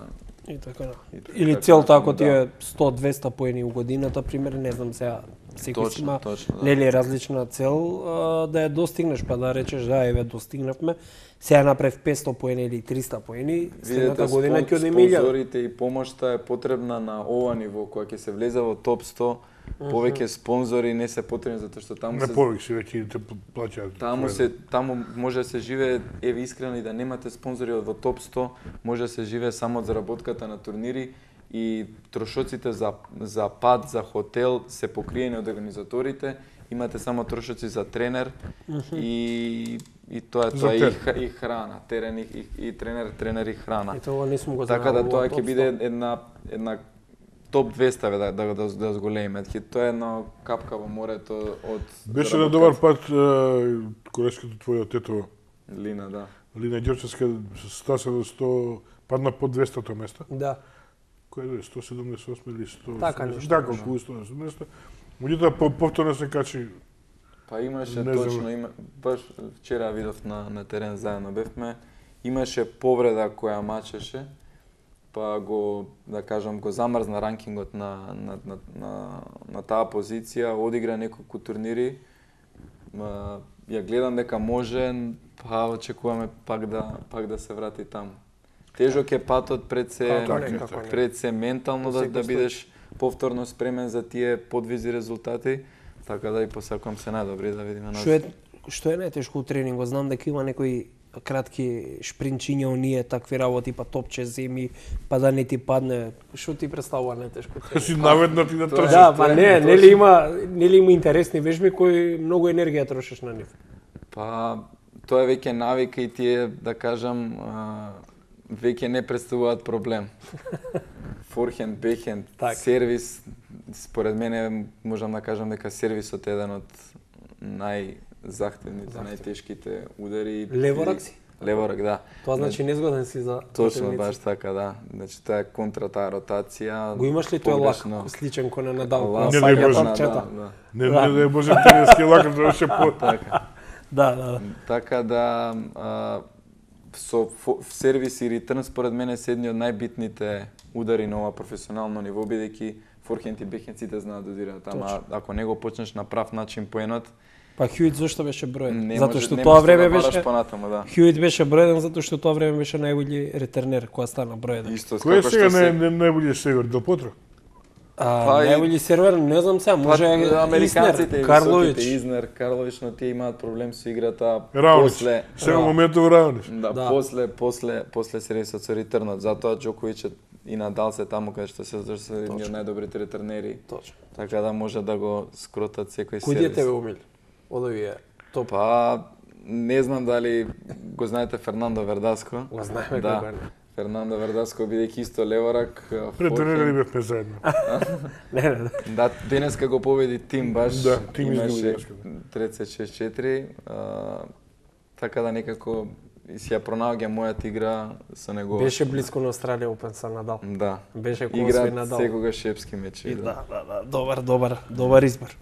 И така. Или целта ако ти е 100-200 поени у годината, пример, не знам сега, секој има нели различна цел да ја достигнеш, па да речеш да еве достигнавме, сега направив 500 поени или 300 поени, следната година ќе одиме 1000. Спонзорите и помошта е потребна на ова ниво, кога ќе се влезе во топ 100, повеќе спонзори не се потребни затоа што таму се не повеќе веќе те плаќаат. Таму може да се живее, еве искрено и да немате спонзори во топ 100, може да се живее само од заработката на турнири и трошоците за пат, за хотел се покриени од организаторите, имате само трошоци за тренер и тоа е и храна, терен и тренер и храна. Така да тоа ќе биде една топ 200 да зголемиме. Тоа е една капка во морето од беше на добар пат колешката твоја тето Лина, да. Лина Ѓорчевска стаса до 100, падна под 200-то место. Да. Кој е 178 или 100? Така нешто. Така, околу 180 место. Меѓутоа повторно се качи. Па имаше точно, баш вчера видов на терен заедно бевме, имаше повреда која мачеше, па го, да кажам, го замрзна ранкингот на таа позиција, одигра неколку турнири, ја гледам дека може, па очекуваме пак да се врати таму. Тежок е патот пред се ментално да бидеш повторно спремен за тие подвизи резултати, така да и посакувам се најдобри да видиме нас. Што е најтешко у тренингот? Знам дека има некои кратки шпринчиња, оние такви работи, па топче земи, па да не ти падне. Што ти представува најтешко? Си наведна ти да трчаш. Да, па нели има интересни вежби кои многу енергија трошиш на нив. Па тоа е веќе навика и тие, да кажам, веќе не представуваат проблем. Форхенд, бехенд, сервис, според мене можам да кажам дека сервисот е еден од најзахтевните, најтешките удари. Леворак си? Леворак, да. Тоа значи незгоден си за Точно, баш така, да. Значи таа контра, таа ротација. Го имаш ли тој лак, сличен кон на Надал? Не дај Боже, не дај Боже, тениски лак да беше по така. Да. Така да со сервис и ретрн според мене се едни од најбитните удари на ова професионално ниво, бидејќи форхенд и бекхенд сите знаат да удираат, ама ако не го почнеш на прав начин поенот, па Хјуит зашто беше броен? Затоа што тоа време беше понатаму, да. Хјуит беше броен затоа што тоа време беше најбољи ретернер кога стана броен. Исто Кој е сега најбољи север до Потро? Најбољи сервер, не знам сега, може американците, Карлович. Изнер, Карлович, но тие имаат проблем со играта после. Сега моментов Раунич. Да, после сервисот со ретрнот, затоа Џоковиќ и Надал се таму каде што се едни од најдобрите ретрнери. Точно. Така да може да го скротат секој сервис. Кој тебе умил? Од овие топ? Па не знам дали го знаете Фернандо Вердаско. Го знаеме да. кога не. Фернандо Вердаско бидејќи исто леворак. Претренирали бевме заедно. Не. Да, денеска го победи тим баш. Да, тим имаше 36-4. Така да некако си ја пронаоѓа мојата игра со него. Беше близко на Австралија Опен со Надал. Да. Беше кон свој Надал. Секогаш шепски мечи. Да. Добар избор.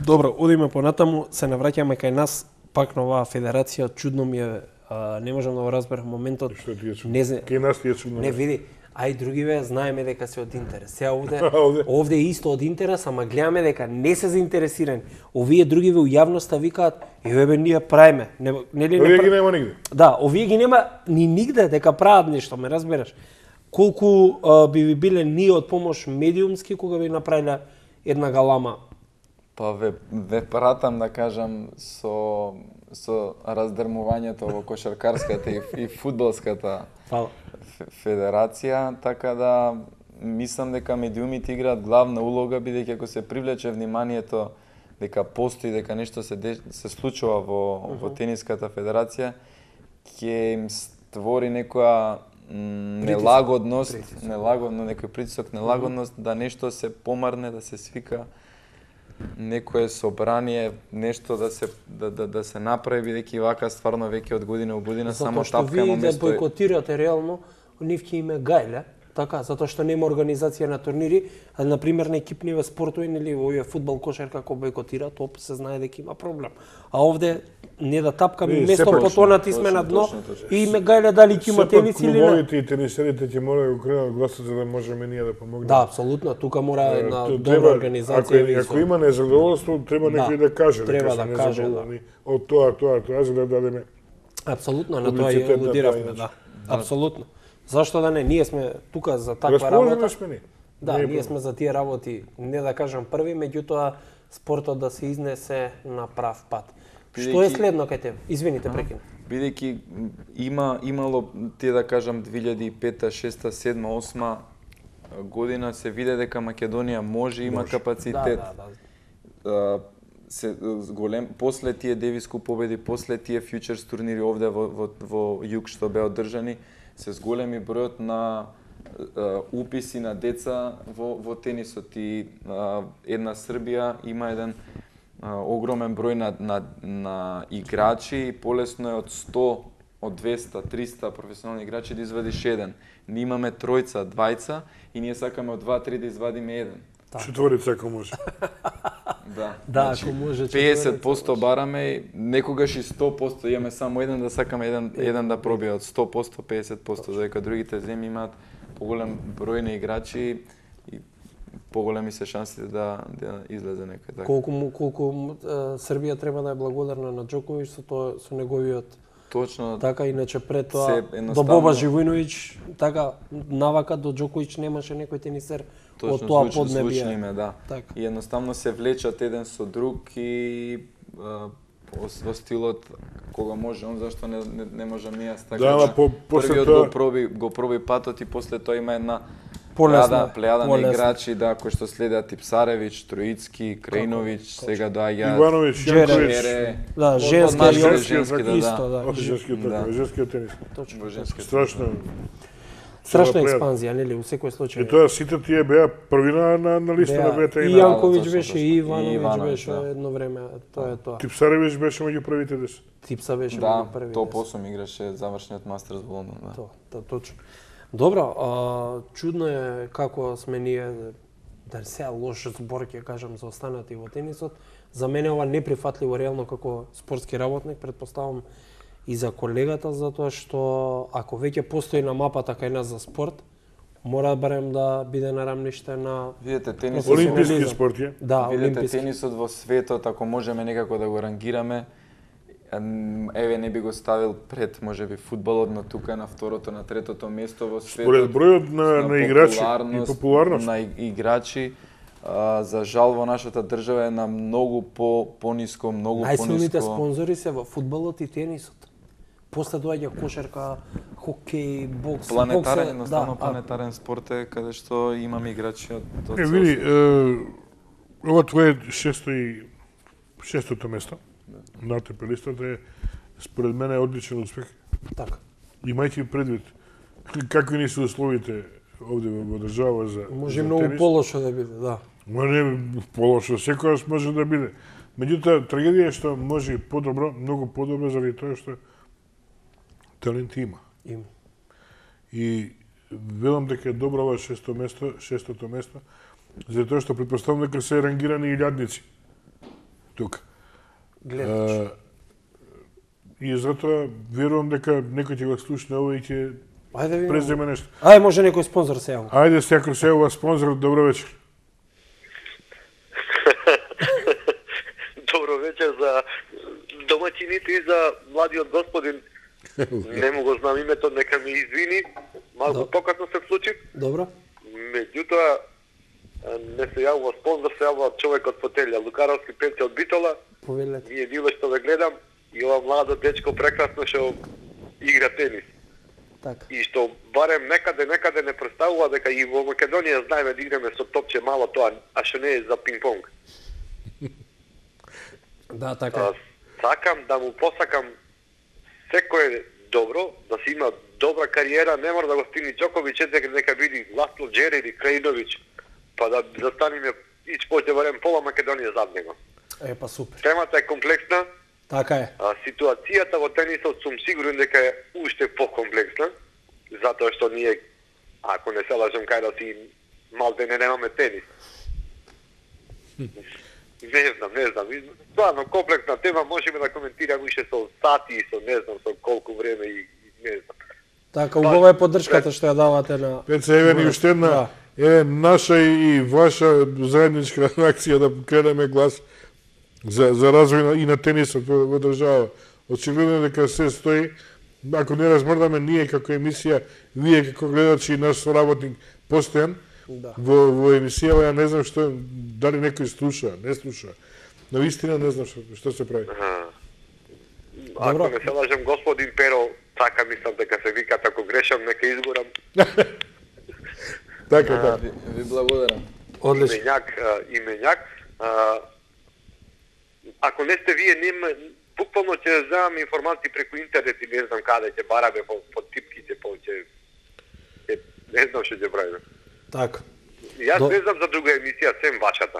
Добро, одиме понатаму, се навраќаме кај нас, пак на оваа федерација, чудно ми е, не можам да го разберам моментот. Што ти е чудно? Не знам. Кај нас ти е чудно. Не види, ај другиве знаеме дека се од интерес. Сега овде е исто од интерес, ама гледаме дека не се заинтересирани. Овие другиве у јавноста викаат, еве ние правиме. Нели овие ги нема нигде. Да, овие ги нема ни нигде дека прават нешто, ме разбираш. Колку би ви биле ние од помош медиумски кога би направиле една галама? Па ве пратам да кажам со раздрмувањето во кошаркарската и фудбалската федерација, така да мислам дека медиумите играат главна улога, бидејќи ако се привлече вниманието дека постои, дека нешто се случува во тениската федерација, ќе им створи некоја нелагодност, некој притисок, нелагодност да нешто се помарне, да се свика некое собрание, нешто да се направи, бидејќи вака стварно веќе од година во година само тапкамо место. Затоа што вие да бойкотирате реално, нив ќе име гајле, така, затоа што нема организација на турнири, а на пример на екипниве спортови, нели овие фудбал, кошарка како бойкотираат, се знае дека има проблем. А овде не да тапкаме место потонати сме на дно и име гајле дали ќе има тенис или не. Клубовите и тенисерите ќе мора да го кренат гласот за да можеме ние да помогнеме. Да, апсолутно, тука мора една добра организација. Ако има незадоволство, треба некој да каже. Треба да каже, да. Од тоа, за да дадеме. Апсолутно, на тоа и алудиравме, да. Апсолутно. Зашто да не? Ние сме тука за таква работа. Да, ние сме за тие работи, не да кажам први, меѓутоа спортот да се изнесе на прав пат. Што е следно кај тебе? Извините, прекина. Бидејќи имало, тие да кажам 2005, 6, 7, 8 година се виде дека Македонија може, има капацитет. После тие Девиску победи, после тие фьючерс турнири овде во југ што беа одржани, се зголеми бројот на уписи на деца во тенисот и една Србија има еден огромен број на играчи и полесно е од 100, од 200, 300 професионални играчи да извадиш еден. Ние имаме тројца, двајца и ние сакаме од 2-3 да извадиме еден. Четворица ако може. Да, ако може. 50% бараме, некогаш и 100% имаме само еден да сакаме еден да пробие од 100%, 50%, додека другите земји имаат поголем број на играчи и поголеми се шансите да излезе некој така. Колку Србија треба да е благодарна на Џоковиќ со неговиот точно така, иначе пред тоа до Боба Живојновиќ, така навака до Џоковиќ немаше некој тенисер од тоа поднебие. Да. Така. И едноставно се влечат еден со друг и во стилот кога може он, зашто не можам ние така. Да, првиот го проби патот и после тоа има една плејада на играчи кои што следат Типсаревиќ, Троицки, Крајновиќ, сега доаѓаат Ивановиќ, Јанковиќ. Да, женски исто, да. Женскиот тенис. Точно. Страшно. Страшна плејада. експанзија, нели, у секој случај. И тоа сите тие беа први на листа на БТ И и на Јанковиќ точно, беше, точно. и И Ивановиќ Ивановиќ, беше да. едно време, тоа е тоа. Типсаревиќ беше меѓу првите 10. Типса беше Да, меѓу први. топ 8 играше завршниот мастерс во Лондон, да. Тоа, точно. Добро, чудно е како сме ние, да се лош збор ќе кажам за останати во тенисот. За мене ова неприфатливо реално како спортски работник, претпоставам и за колегата, затоа што ако веќе постои на мапата кај нас за спорт, мора барем да биде нарамниште на Видете, тенисот, Олимписки спорт е. Да, видете, олимписки. тенисот во светот, ако можеме некако да го рангираме, еве не би го ставил пред, можеби, фудбалот, но тука на второто, на третото место во светот. Според бројот на играчи и популарност. На играчи, за жал во нашата држава е на многу пониско, многу Најсилните пониско. спонзори се во фудбалот и тенисот. После доаѓа кошарка, хокеј, бокс. Планетарен, бокс, едноставно планетарен спорт е каде што имаме играчи од Е, цел види, свет. ова твое шестото место на АТП листата е според мене одличен успех. Така. Имајќи предвид какви ни се условите овде во држава за Може за многу тенис. полошо да биде, да. Ма не полошо, секојаш може да биде. Меѓутоа, трагедија е што може и подобро, многу подобро заради тоа што талент има. Има. И велам дека е добро ова шестото место, затоа што претпоставам дека се рангирани илјадници тука. Гледаш. И затоа верувам дека некој ќе го слушне ова и ќе Ајде видиме. преземе нешто. Ајде, може некој спонзор се јави. Ајде, секој се ова спонзор, добро вечер. Добро вечер за домаќините и за младиот господин. Не му го знам името, нека ми извини. Малку покасно се случи. Добро. Меѓутоа, не се јавува спонзор, се јавува човек од фотелја. Лукаровски Пенце од Битола. Повелете. Ние диле што ве гледам и ова младо дечко прекрасно што игра тенис. Така. И што барем некаде не представува дека и во Македонија знаеме да играме со топче мало тоа, а што не е за пинг-понг. Да, така. Сакам да му посакам секое добро, да си има добра кариера, не мора да го стигне Џоковиќ, дека нека биде Ласло Џери или Крајиновиќ, па да застанеме ич поќе барем пола Македонија зад него. Е, па супер. Темата е комплексна, Така е. ситуацијата во тенисот сум сигурен дека е уште покомплексна, затоа што ние, ако не се лажам, кај да си малте не немаме тенис. Не знам. Стварно, комплексна тема, можеме да коментираме уште со сати и со не знам со колку време и не знам. Така, убава е поддршката што ја давате на... Пеца, еве ни уште една, еве наша и ваша заедничка акција да крадеме глас за развој и на тенисот во држава. Очигледно е дека се стои, ако не размрдаме ние како емисија, вие како гледачи и наш соработник постојан, Да. во емисијава ја не знам што, дали некој слуша, не слуша. На вистина не знам што се прави. Ако не се лажам, господин Перо, така мислам дека се викат, ако грешам, нека изгорам. Така. Ви благодарам. Одлично. Именјак. Ако не сте вие, буквално ќе земам информации преку интернет и не знам каде ќе бараме по типките, не знам што ќе правиме. Така. Јас не знам за друга емисија, сем вашата.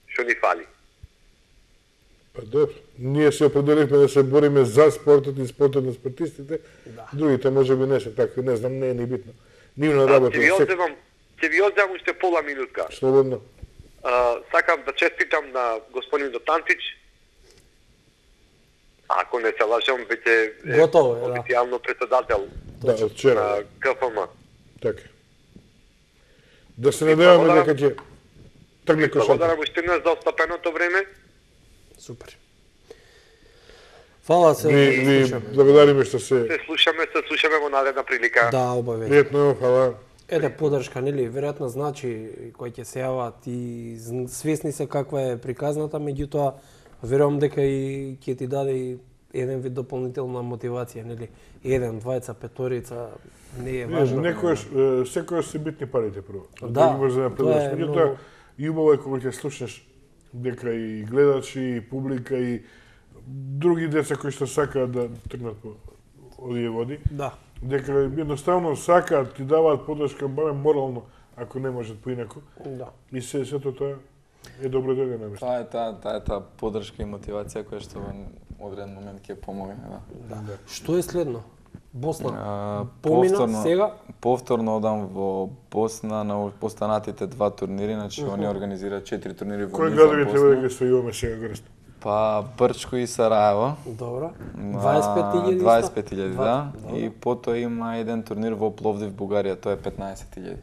Што ни фали? Па добро. Ние се определивме да се бориме за спортот и спортот на спортистите. Да. Другите може би не се така, не знам, не е ни битно. Нивна работа. Ќе ви одземам уште пола минутка. Слободно. Сакам да честитам на господин Дотантич. Ако не се лажам, веќе е Готово е, да. официјално председател Да, од вчера. на КФМ. Така. Да се надеваме дека ќе тргне кошарка. Благодарам уште еднаш за остапеното време. Супер. Фала се. Ви благодариме што се... Се слушаме во наредна прилика. Да, обаве. Пријатно, фала. Еде поддршка, нели, веројатно значи кој ќе се јават и свесни се каква е приказната, меѓутоа верувам дека и ќе ти даде и еден вид дополнителна мотивација, нели, еден, двајца, петорица, не е важно. Секојаш се битни парите прво. Да, ги можеш да тоа е напредуваш. Меѓутоа, многу- и убаво е кога ќе слушнеш дека и гледачи, и публика, и други деца кои што сакаат да тргнат по овие води, Да. дека едноставно сакаат, ти даваат подршка барем морално, ако не можат поинаку. Да. И сето тоа е добро додено, мислам. Таа е таа подршка и мотивација која што во одреден момент ќе помогне, да. Што е следно? Босна. Помина сега? Повторно одам во Босна на останатите 2 турнири, значи они организираат 4 турнири во Кои низа градови треба да Босна. ги освојуваме сега горе? Па Брчко и Сараево. Добро. 25.000 25.000, да. И потоа има еден турнир во Пловдив, Бугарија, тоа е 15.000.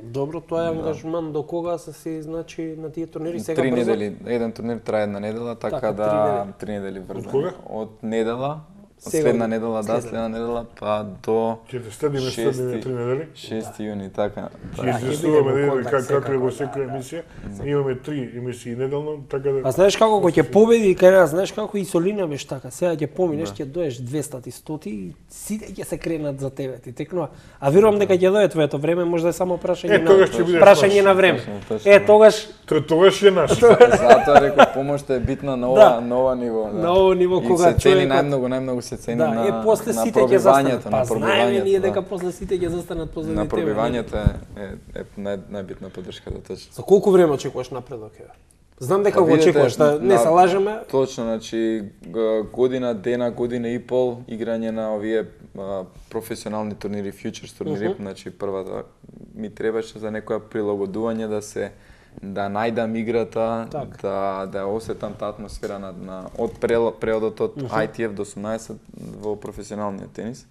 Добро, тоа е ангажман до кога се значи на тие турнири сега 3 брзо? недели, еден турнир трае една недела, така Така, да 3 недели Од врзано. кога? Од недела, од Сега, следна недела, да, следна недела, па до Ќе те стадиме 3 недели. 6 јуни, така. Ќе ќе известуваме бидеме да во видиме контакт како е во секако, секоја емисија. Имаме 3 емисии неделно, така да... А знаеш како кога ќе победи кај нас, знаеш како и Солина беше така, сега ќе поминеш, ќе доеш 200 и 100 и сите ќе се кренат за тебе, ти текнува. А верувам дека ќе дое твоето време, може да е само прашање тогаш ќе бидеш прашање наш. на време. Точно. Тогаш Тогаш е наш. Затоа реков помошта е битна на ова, Да. на ова ниво, да. На ова ниво, И кога се цени човекот- најмногу се цени да, на после на сите ќе застанат. пробивањето, Па на знаеме ние пробивањето. дека Да. после сите ќе застанат позади На тебе. пробивањето е најбитна подршката, точно. За колку време очекуваш напредок е? Знам дека Па го видете, очекуваш, да не се лажеме. Точно, значи година, година и пол играње на овие професионални турнири, фьючерс турнири, значи првата ми требаше за некоја прилагодување да најдам играта, да ја осетам таа атмосфера од преодот од ITF до 18 во професионалниот тенис.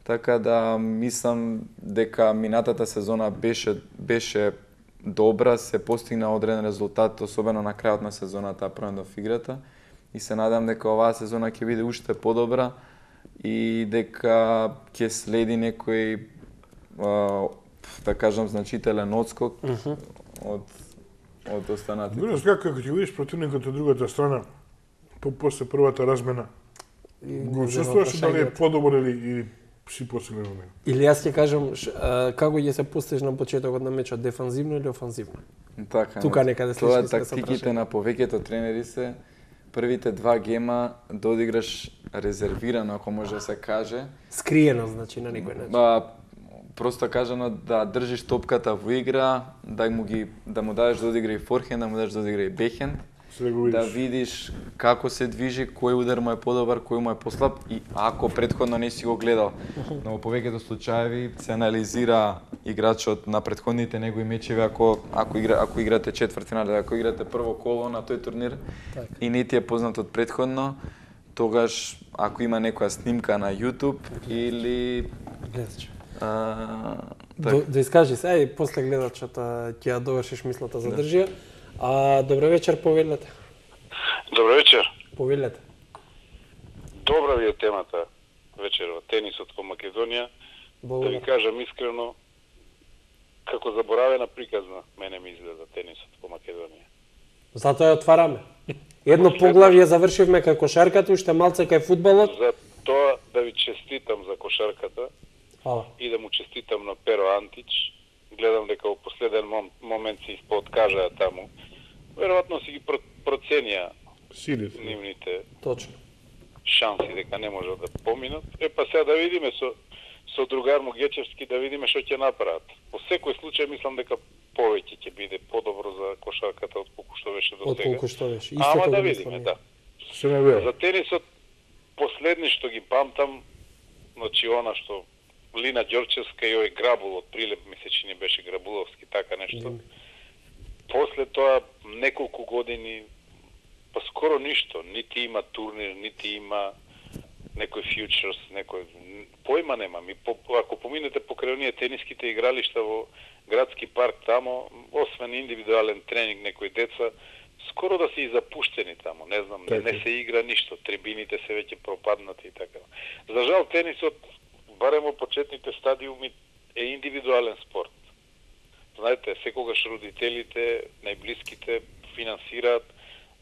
Така да мислам дека минатата сезона беше добра, се постигна одреден резултат, особено на крајот на сезоната, апрендов играта. И се надам дека оваа сезона ќе биде уште подобра и дека ќе следи некој, да кажам, значителен одскок од останатите. Видиш како ќе видиш противникот од другата страна, после првата размена, го чувствуваш дали е подобар или си посилен од него? Или јас ќе кажам како ќе се постиш на почетокот на мечот, дефанзивно или офанзивно? Така, Тука некаде тоа слични сме со тактиките на повеќето тренери се првите 2 гема да одиграш резервирано, ако може да се каже. Скриено, значи, на некој начин. Просто кажано да држиш топката во игра, да му дадеш да одигра и форхенд, да му дадеш да одигра и бекхенд, да видиш како се движи, кој удар му е подобар, кој му е послаб и ако претходно не си го гледал. Но во повеќето случаеви се анализира играчот на претходните негови мечеви ако играте четвртфинале, ако играте прво коло на тој турнир и не ти е познат од претходно, тогаш ако има некоја снимка на YouTube или Гледач. така. Да искажи се, ај после гледачот ќе ја довршиш мислата за држија. Добро вечер, повелете. Добро вечер. Повелете. Добра ви е темата вечерва, тенисот во Македонија. Да ви кажам искрено, како заборавена приказна, мене ми изгледа тенисот во Македонија. Затоа ја отвараме. Едно поглавје завршивме кај кошарката, уште малце кај фудбалот. За тоа да ви честитам за кошарката. Фала. И да му честитам на Перо Антич. Гледам дека во последен момент се испооткажаа таму. Веројатно си ги проценија нивните Точно. шанси дека не можат да поминат. Па сега да видиме со другар му Гечевски да видиме што ќе направат. Во секој случај мислам дека повеќе ќе биде подобро за кошарката отколку што беше до сега. Отколку што беше. Ама да видиме, да. Се не верува. За тенисот последни што ги памтам, значи она што Лина Ѓорчевска и овој Грабул од Прилеп, мисля че не беше Грабуловски, така нешто. После тоа неколку години па скоро ништо, нити има турнир, нити има некој фьючерс, некој појма немам. И ако поминете покрај оние тениските игралишта во градски парк тамо, освен индивидуален тренинг некои деца, скоро да се и запуштени тамо, не знам, не се игра ништо, трибините се веќе пропаднати и така. За жал тенисот барем во почетните стадиуми е индивидуален спорт. Знаете, секогаш родителите, најблиските финансираат,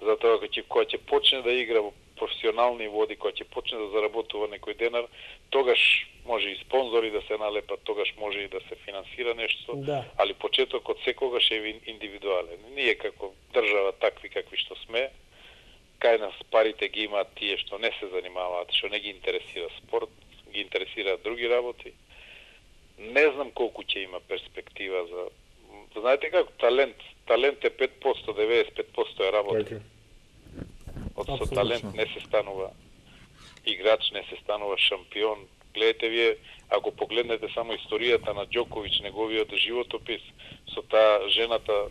затоа кога ќе почне да игра во професионални води, кога ќе почне да заработува некој денар, тогаш може и спонзори да се налепат, тогаш може и да се финансира нешто, али почетокот секогаш е индивидуален. Ние како држава такви какви што сме, кај нас парите ги имаат тие што не се занимаваат, што не ги интересира спорт, ги интересираат други работи. Не знам колку ќе има перспектива за... Знаете како, талент е 5%, 95% е работа. Така. Со талент не се станува играч, не се станува шампион. Гледате вие, ако погледнете само историјата на Џоковиќ, неговиот животопис, со таа жената,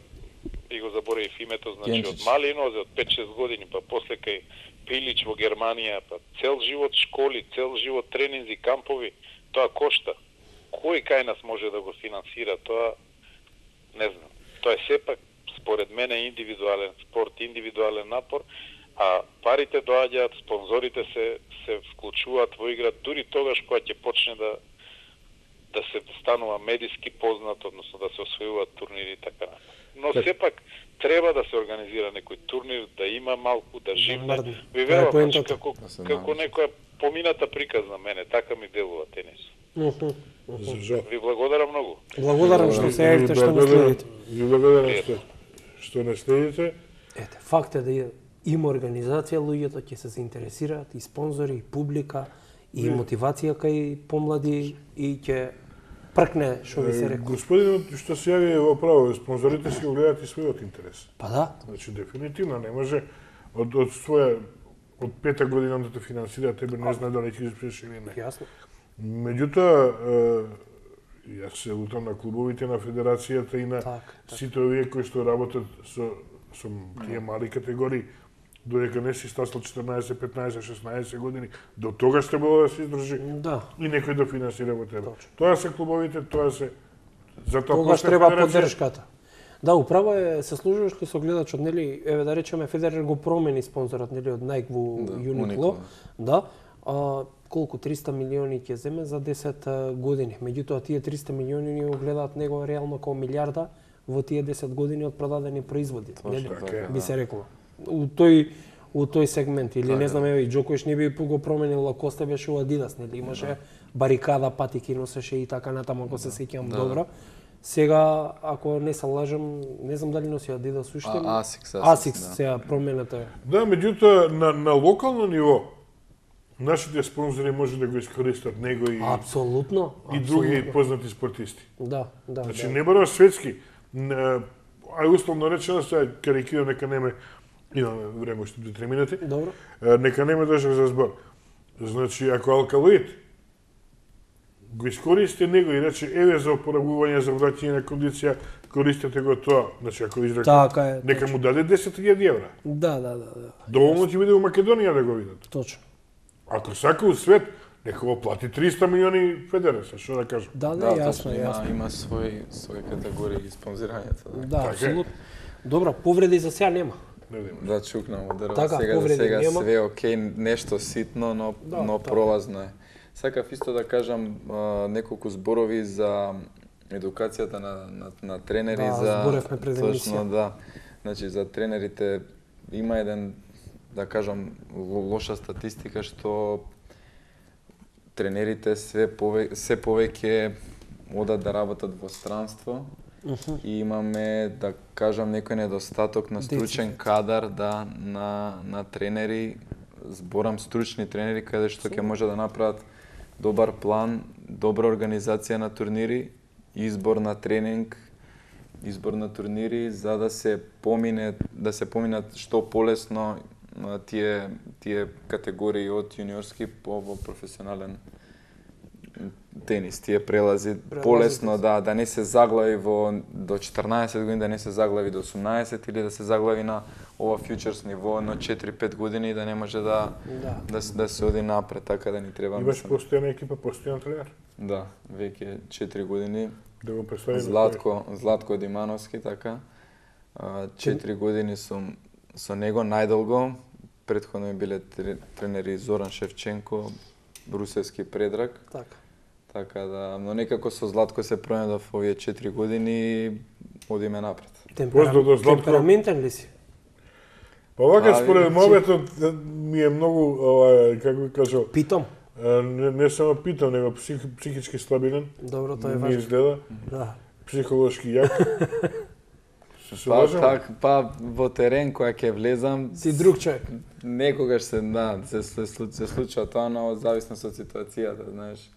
и го заборавив името, значи од мали нозе, од 5-6 години, па после кај Пилич во Германија, па цел живот школи, цел живот тренинзи, кампови, тоа кошта. Кој кај нас може да го финансира тоа? Не знам. Тоа е сепак, според мене, индивидуален спорт, индивидуален напор, а парите доаѓаат, спонзорите се вклучуваат во игра дури тогаш кога ќе почне да се станува медиски познат, односно да се освојуваат турнири и така натаму. Но сепак треба да се организира некој турнир, да има малку, да живне. Ви верувам, како некоја помината приказ на мене, така ми делува тенис. Ви благодарам многу. Благодарам што се јавите, што не следите. Ви благодарам што не следите. Ете, факт е да има организација, луѓето ќе се заинтересираат, и спонзори, и публика, и мотивација кај помлади, и ќе пркне, што ви се рекол. Господинот што се јави во право, спонзорите си го гледаат и својот интерес. Па да. Значи, дефинитивно не може од своја, од 5-та година да те финансира, тебе не знае дали ќе успееш или не. Јасно. Меѓутоа, јас се лутам на клубовите, на федерацијата и на сите овие кои што работат со тие мали категории, додека не си стасал 14, 15, 16 години, до тогаш треба да се издржи и некој да финансира во тебе. Тоа се клубовите, тоа се... Тогаш треба поддршката. Да, управо е, се служуваш кој со гледачот, нели, еве да речеме Федерер го промени спонзорот, нели, од Nike во Uniqlo, да, колку 300 милиони ќе земе за 10 години. Меѓутоа тие 300 милиони ни го гледаат него реално како милиарда во тие 10 години од продадени производи, нели? Би се рекло. У тој сегмент, или не знам, еве и Џоковиќ не би го променил, Лакосте беше у Адидас, нели, имаше барикада, патики носеше и така натаму, ако се сеќавам добро. Сега, ако не се лажам, не знам дали носи Адидас уште. Асикс сега промената е. Да, меѓутоа на локално ниво нашите спонзори може да го искористат него и апсолутно и други познати спортисти. Да. Значи не мора светски. Ај условно речено, сега карикирам, нека неме, имаме време уште 2-3 минути. Добро. Нека неме држав за збор. Значи, ако Алкалоид го искористи него и рече, еве за опоравување, за враќање на кондиција, користете го тоа. Значи, ако израка, нека му даде 10.000 евра. Да. Доволно ќе биде у Македонија да го видат. Точно. Ако сака у свет, нека го плати 300 милиони Федерација, што да кажам. Да, јасно. Има свој категории и спонзирањето. Да, апсолутно. Добро, повреди за сега нема. Да, чукнам од дрва. Сега све окей, нешто ситно, но пролазно е. Сакав исто да кажам неколку зборови за едукацијата на тренери, за зборевме пред емисија. Да. Значи за тренерите има еден, да кажам, лоша статистика што тренерите се повеќе одат да работат во странство и имаме, да кажам, некој недостаток на стручен кадар на тренери, зборам стручни тренери каде што ќе може да направат добар план, добра организација на турнири, избор на тренинг, избор на турнири за да се поминат што полесно тие категории од јуниорски во професионален тенис, тие прелази полесно да не се заглави до 14 години, да не се заглави до 18 или да се заглави на ова фьючерс ниво на 4-5 години да не може да се оди напред, така да ни треба. Имаш постојана екипа, постојан тренер? Да, веќе 4 години. Да го представи Златко Димановски, така. 4 години сум со него најдолго. Претходно ми биле тренери Зоран Шевченко, Брусевски Предраг. Така да, но некако со Златко се пронајдов овие 4 години и одиме напред. Темпераментен ли си? Па вака според моветот ми е многу, како би кажал, питом. Не само питам, него психички слабилен. Добро, тоа е важно. Ми изгледа. Да. Психолошки јак. Се лажам? Па во терен која ќе влезам, Си друг човек. некогаш се случува тоа, но во зависност од ситуацијата, знаеш.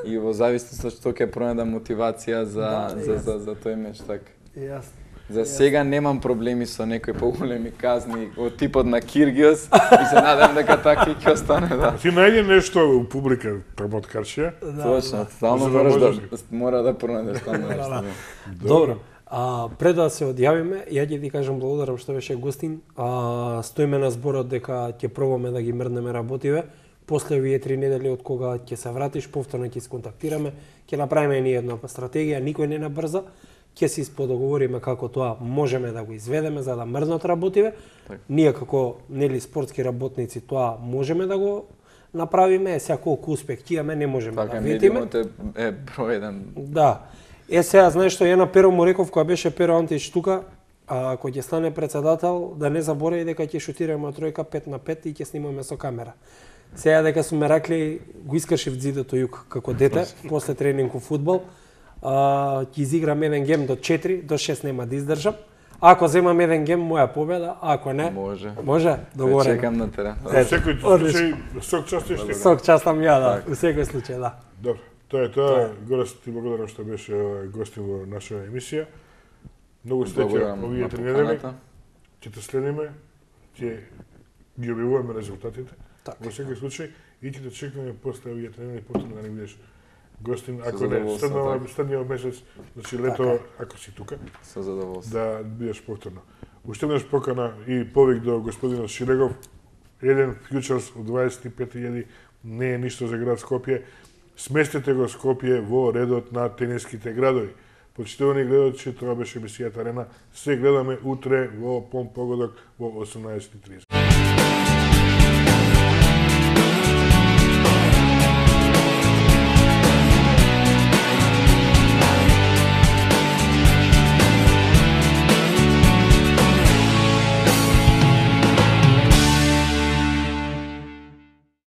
И во зависност од што ќе пронајдам мотивација за тој меч, така. Јасно. За сега немам проблеми со некои поголеми казни од типот на Киргиос и се надам дека така ќе остане, да. Ти најде нешто у публика премоткарчија? Точно, стално За да мораш можеш мора да пронајдеш стално нешто. Добро. Пред да се одјавиме, ја ќе ти кажам благодарам што беше гостин. Стоиме на зборот дека ќе пробаме да ги мрднеме работиве. После овие 3 недели од кога ќе се вратиш, повторно ќе се контактираме, ќе направиме ни една стратегија, никој не набрза. Ќе се исподоговориме како тоа можеме да го изведеме за да мрднат работиве. Ние како нели спортски работници тоа можеме да го направиме, сега колку успех ќе имаме не можеме да видиме. Медиумот е број 1. Да. Сега знаеш што ја на Перо му реков кога беше Перо Антич тука, кога ќе стане председател да не заборави дека ќе шутираме тројка 5 на 5 и ќе снимаме со камера. Сега дека су ме ракли го искашив дзидото јук како дете после тренингов фудбал. Ќе изиграм еден гем до 4, до 6 нема да издржам. Ако земам еден гем, моја победа, ако не, може, договорено. Чекам на терен. Во секој случај, сок частиш ти. Сок частам ја, да, во секој случај, да. Добро, тоа е тоа. Горе ти благодарам што беше гостин во нашата емисија. Многу среќа овие 3 недели. Ќе те следиме, ќе ги објавуваме резултатите. Во секој случај и ќе те чекаме после овие 3 недели повторно да не бидеш гостин, ако не, следниот месец, значи лето, ако си тука, со задоволство. Да бидеш повторно. Уште еднаш покана и повик до господинот Шилегов. Еден фьючерс од 25.000 не е ништо за град Скопје. Сместете го Скопје во редот на тениските градови. Почитувани гледачи, тоа беше емисијата Арена. Се гледаме утре во Пон Погодок во 18:30.